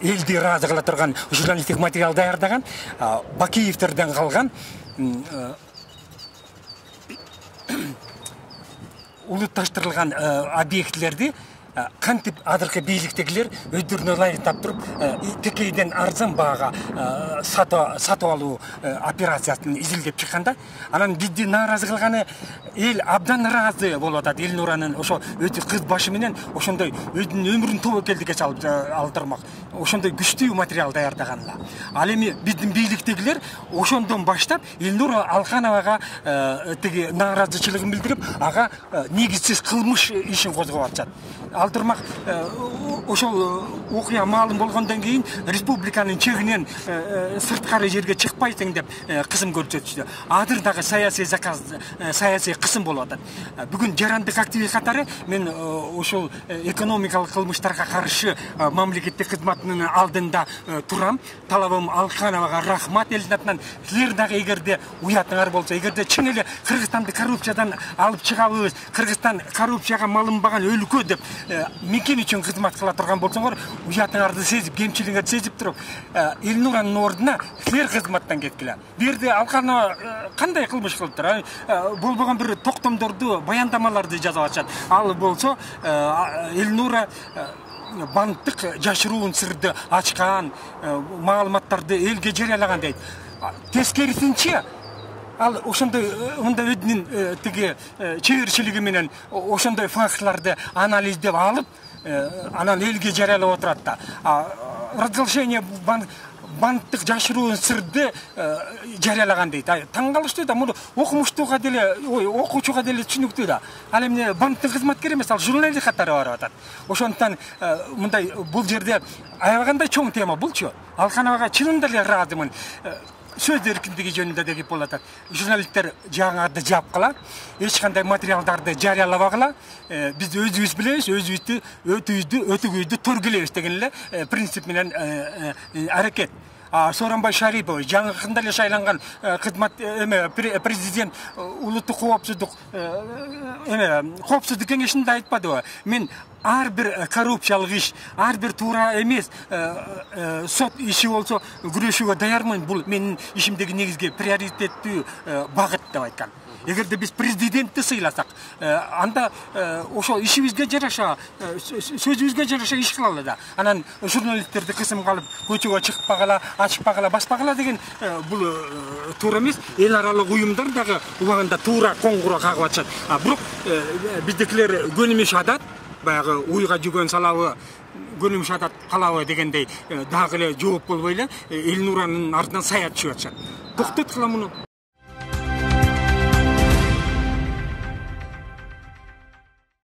элди ыраазы кыла турган журналисттик материал даярдаган, Бакиевтерден калган улутташтырылган объектилерди кантип азыркы бийликтегилер өздөрүнө ылайыктап туруп текейден арзан баага сатып алуу операциясын изилдеп чыкканда, анан бизди нааразы кылганы эл абдан ыраазы болуп атат. Элнуранын ошо өтө кыз башы менен ошондой өзүнүн өмүрүн тобокелдикке чалып алдырмак ошондой күчтүү материал даярдаганла. Ал эми биздин бийликтегилер ошондон баштап Элнура Алкановага тиги нааразычылыгын билдирип, ага негизсиз кылмыш ишин козгоп атышат. Алдырмак ошол окуя маалым болгондон кийин республиканын чегинен сырткары жерге чыкпайсың деп кысым көрсөтүштү. Азыр дагы саясий заказ, саясий кысым болуп атат. Бүгүн жарандык активист катары мен ошол экономикалык кылмыштарга каршы мамлекеттик кызматтын алдында турам. Талабым Алкановага рахмат элдин атынан. Силер дагы эгерде уятыңар болсо, эгерде чын эле Кыргызстанды коррупциядан алып чыгабыз, Кыргызстан коррупцияга малынбаган өлкө деп мекен үчүн кызмат кыла турган болсоңор, уятыңарды сезип, кемчилигиңерди сезип туруп, Элнуранын ордуна силер кызматтан кеткиле. Бу жерде Алканова кандай кылмыш кылыптыр? Болбогон бир токтомдорду, баяндамаларды жазып атышат. Ал болсо Элнура банктык жашыруун сырды ачкан, маалыматтарды элге жарыялаган дейт. Тескерисинче ал ошондой мындай өзүнүн тиги чеберчилиги менен ошондой фактларды анализдеп алып, анан элге жарыялап отурат да. Разглашение банктык жашыруун сырды жарыялаган дейт. Таң калыштуу да, муну окумуштууга деле, окуучуга деле түшүнүктүү да. Ал эми банктын кызматкери эмес, ал журналист катары барып атат. Ошондуктан мындай бул жерде аябагандай чоң тема булчу. Алкановага чынында эле ыраазымын. Сөз эркиндиги жөнүндө деп болуп атат. Журналисттер жаңарды жапкыла, эч кандай материалдарды жарыялабагыла, биз өзүбүз билебиз, өзүбүздү өтүгүбүздү төргүлөйбүз деген эле принцип менен аракет. Сооронбай Шарипов жаңыкында эле шайланган кызмат президент улуттук коопсуздук кеңешинде айтпадыбы? Мен ар бир коррупциялык иш, ар бир туура эмес сот иши болсо күрөшүүгө даярмын. Бул менин ишимдеги негизги приоритеттүү багыт деп айткан. Эгерде биз президентти сыйласак, анда ошол ишибизге жараша, сөзүбүзгө жараша иш кылалы да. Анан журналисттерди кысымга алып, көчөгө чыкпагыла, ачпагыла, баспагыла деген бул туура эмес. Эл аралык уюмдар дагы убагында туура коңгуроо кагып атышат. Бирок биздикилер көнүмүш адат, баягы уйга жүгөн салабы, көнүмүш адат калабы дегендей дагы эле жооп болбой эле Элнуранын артынан саят түшүп атышат. Токтоткула муну.